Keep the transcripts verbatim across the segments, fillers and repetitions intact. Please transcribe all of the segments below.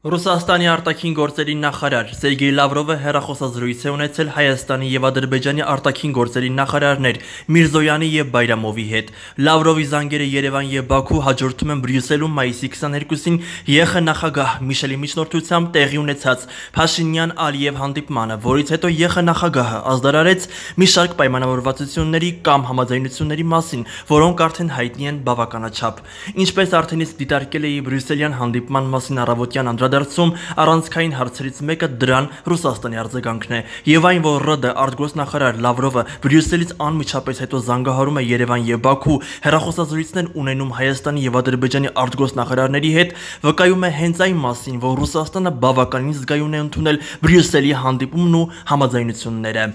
Ռուսաստանի արտաքին գործերի նախարար Սերգեյ Լավրովը հեռախոսազրույց է ունեցել Հայաստանի եւ Ադրբեջանի արտաքին գործերի նախարարներ Միրզոյանի եւ Բայրամովի հետ։ Լավրովի զանգերը Երևան եւ Բաքու հաջորդում են Բրյուսելում մայիսի քսաներկուսին ԵԽ նախագահ Միշելի միջնորդությամբ տեղի ունեցած Փաշինյան-Ալիև հանդիպմանը, որից հետո ԵԽ նախագահը ազդարարեց մի շարք պայմանավորվածությունների կամ համաձայնությունների մասին, որոնք արդեն հայտնի են բավականաչափ։ Ինչպես արդեն իսկ դիտարկել էի Բրյուսելյան հանդիպման մասին առավոտյան անդրադարձում, առանցքային հարցերից մեկը դրան Ռուսաստանի արձագանքն է, եւ այն, որ ՌԴ արտգործնախարար Լավրովը Բրյուսելից անմիջապես հետո զանգահարում է Երևան եւ Բաքու, հեռախոսազրույցներ ունենում Հայաստանի եւ Ադրբեջանի արտգործնախարարների հետ, վկայում է հենց այն մասին, որ Ռուսաստանը բավականին զգայուն է ընդունել Բրյուսելի հանդիպումն ու համաձայնությունները։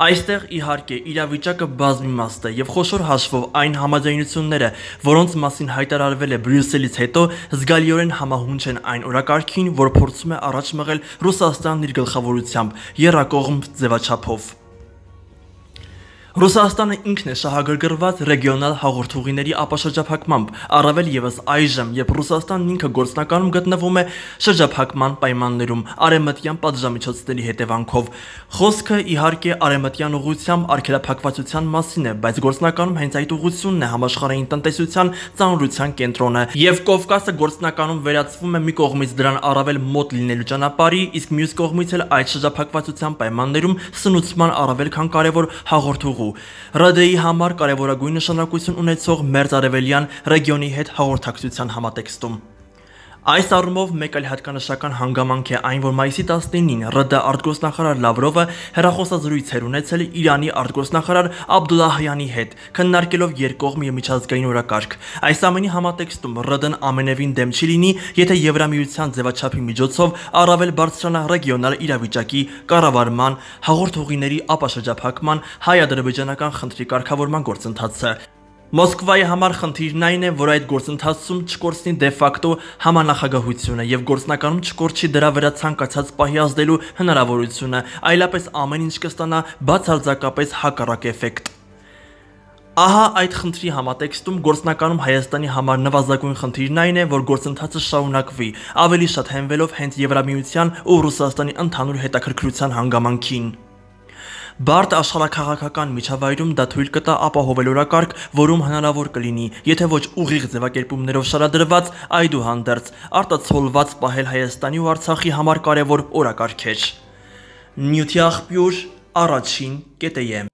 Այստեղ իհարկե իրավիճակը բազմիմաստ է եւ խոշոր հաշվով այն համաձայնությունները, որոնց մասին հայտարարվել է Բրյուսելից հետո, զգալիորեն համահունչ են այն օրակարգին, որ փորձում է առաջ մղել Ռուսաստանն իր գլխավորությամբ եռակողմ ձևաչափով։ Ռուսաստանը ինքն է շահագրգռված ռեգիոնալ հաղորդուղիների ապաշրջափակմամբ, առավել եւս այժմ, երբ Ռուսաստանն ինքը գործնականում գտնվում է շրջափակման պայմաններում արևմտյան պատժամիջոցների հետևանքով։ Խոսքը իհարկե արևմտյան ուղղությամբ արգելափակվածության մասին է, բայց գործնականում հենց այդ ուղղությունն է համաշխարհային տնտեսության ծանրության կենտրոնը, եւ Կովկասը գործնականում վերածվում է մի կողմից դրան առավել մոտ լինելու ճանապարհի, իսկ մյուս կողմից էլ այդ շրջափակվածության պայմաններում սնուցման առավել քան կարևոր հաղորդուղու։ ՌԴ-ի համար կարևորագույն նշանակություն ունեցող մերձարևելյան ռեգիոնի հետ հաղորդակցության համատեքստում։ Այս առումով մեկ այլ հատկանշական հանգամանք է այն, որ մայիսի տասնինին ՌԴ արտգործնախարար Լավրովը հեռախոսազրույց էր ունեցել Իրանի արտգործնախարար Աբդուլլահյանի հետ, քննարկելով երկկողմ եւ միջազգային օրակարգ։ Այս ամենի համատեքստում ՌԴ-ն ամենևին դեմ չի լինի, եթե Եվրամիության ձևաչափի միջոցով առավել բարձրանա ռեգիոնալ իրավիճակի կառավարման, հաղորդուղիների ապաշրջափակման, հայ-ադրբեջանական խնդրի կարգավորման գործընթացը։ Մոսկվայի համար խնդիրն այն է, որ այդ գործընթացում չկորցնի դե ֆակտո համանախագահությունը եւ գործնականում չկորչի դրա վրա ցանկացած պահի ազդելու հնարավորությունը, այլապես ամեն ինչ կստանա բացարձակապես հակառակ էֆեկտ։ Ահա այդ խնդրի համատեքստում գործնականում Հայաստանի համար նվազագույն խնդիրն այն է, որ գործընթացը շարունակվի, ավելի շատ հենվելով հենց Եվրամիության ու Ռուսաստանի ընդհանուր հետաքրքրության հանգամանքին։ Բարդ աշխարհաքաղաքական միջավայրում դա թույլ կտա ապահովել օրակարգ, որում հնարավոր կլինի, եթե ոչ ուղիղ ձևակերպումներով շարադրված, այդուհանդերձ արտացոլված պահել Հայաստանի ու Արցախի համար կարևոր օրակարգեր։ Նյութի աղբյուր, առաջին կետեյ։